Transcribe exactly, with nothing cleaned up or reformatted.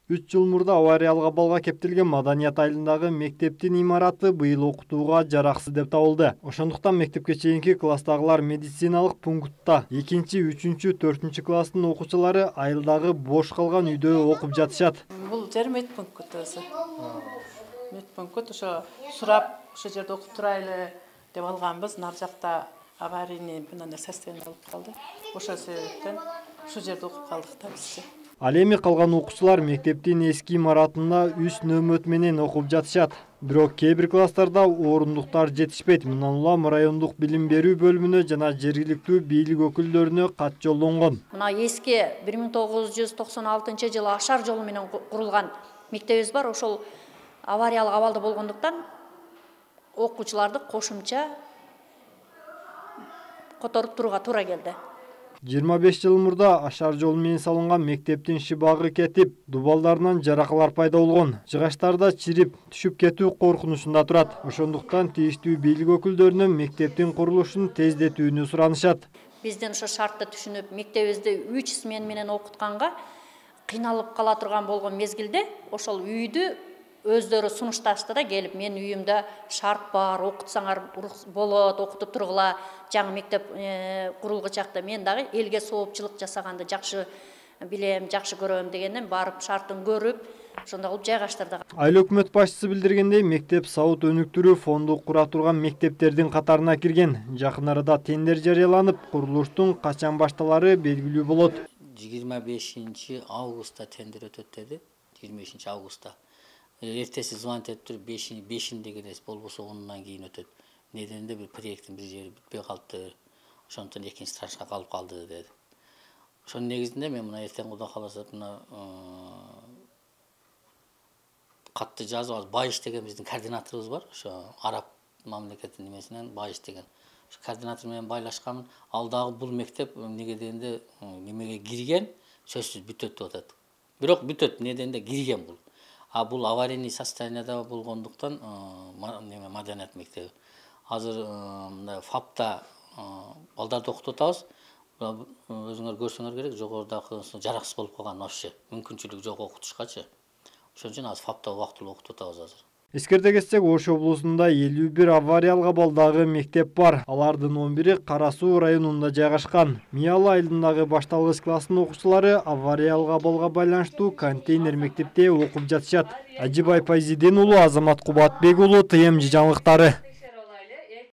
үч жыл мурда авариялык абалга кептелген Маданият айылындагы мектептин имараты быйыл окутууга жараксыз деп табылды. Ошондуктан мектепке чейинки класстагылар медициналык пунктта экинчи, үчүнчү, төртүнчү класстын окуучулары айылдагы бош калган үйдө окуп жатышат. Бул жер медпункт өзү. Медпункт ошо сурап ошо жерде окуп турайлы деп алганбыз. Нар жакта аварийный мындай состояние болуп калды. Ошол себептен ушул жерде окуп калдык да биз. Ал эми калган окуучулар мектептин эски имаратында үч нөмөт менен окуп жатышат. Бирок кээ бир класстарда орундуктар жетишпейт. Мындан улам райондук билим берүү бөлүмүнө жана жергиликтүү бийлик өкүлдөрүнө кат жолдонгон. Мына эски бир миң тогуз жүз токсон алтынчы жылы Ашар жолу менен курулган мектебибиз бар. Ошол авариялык абалда болгондуктан окуучуларды кошумча которуп турууга туура келди. жыйырма беш жыл мурда Ашар жолу менен салынган мектептин шыбагы кетип, дубалдарынан жаракалар пайда болгон. Жыгачтарда чирип, түшүп кетүү коркунучунда турат. Ошондуктан тийиштүү бийлик өкүлдөрүнөн мектептин курулушун тездетүүнү суранышат. Бизден ошо шартты түшүнүп, мектебибизди үч смен менен окутканга кыйналып кала турган болгон мезгилде ошол үйдү өздөрү сунушташты да, келип мен үйүмдө шарт бар, окутсаңар болот, окутуп тургула, жаңы мектеп курулгучакта мен дагы элге соопчулук жасаганды жакшы билем, жакшы көрөм дегенден барып шартын көрүп, ошондой кылып жайгаштырдык. Айыл өкмөт башчысы билдиргендей, мектеп сауыт өнүктүрүү фонду кура турган мектептердин катарына кирген. Жакын арада тендер жарыяланып, курулуштун качан башталары белгилүү болот. жыйырма бешинчи августта тендер өтөт деди, жыйырма бешинчи августта. Эртеси звонить этип туруп бешинде келесиз, болбосо онунан кийин өтөт. Неденде бир проекттин бир жери бүтпөй калыпты. Ошондуктан экинчи траншка калып калды деди. Ошонун негизинде мен мына эртең Кудай кааласа мына катты жазып алып, Байыш деген биздин координаторубуз бар. Ошо араб мамлекетинин немесинен Байыш деген. Ошо координатор менен байлашкан. Ал дагы бул мектеп эмнеге дегенде немеге кирген, сөзсүз бүтөт деп атат. Бирок бүтөт, неденде кирген бул. А бул аварийный состояниеда болгондуктан неме Маданият мектеби. Азыр мындай ФАПта балдарды окутуп атабыз. Өзүңөр көрсөңөр керек, жогорудагы жараксыз болуп калган вообще. Мүмкүнчүлүк жок окутушкачы. Ошон үчүн азыр ФАПта убактылуу окутуп атабыз азыр. Эскерте кетсек, Ош облусунда элүү бир авариялык абалдагы мектеп бар. Алардын он бири Кара Суу районунда жайгашкан. Мияла айылындагы башталгыч класстын окуучулары авариялык абалга байланыштуу контейнер мектепте окуп жатышат. Ажибай Пайзиден уулу, Азамат Кубатбек уулу, ТМЖ жаңылыктары.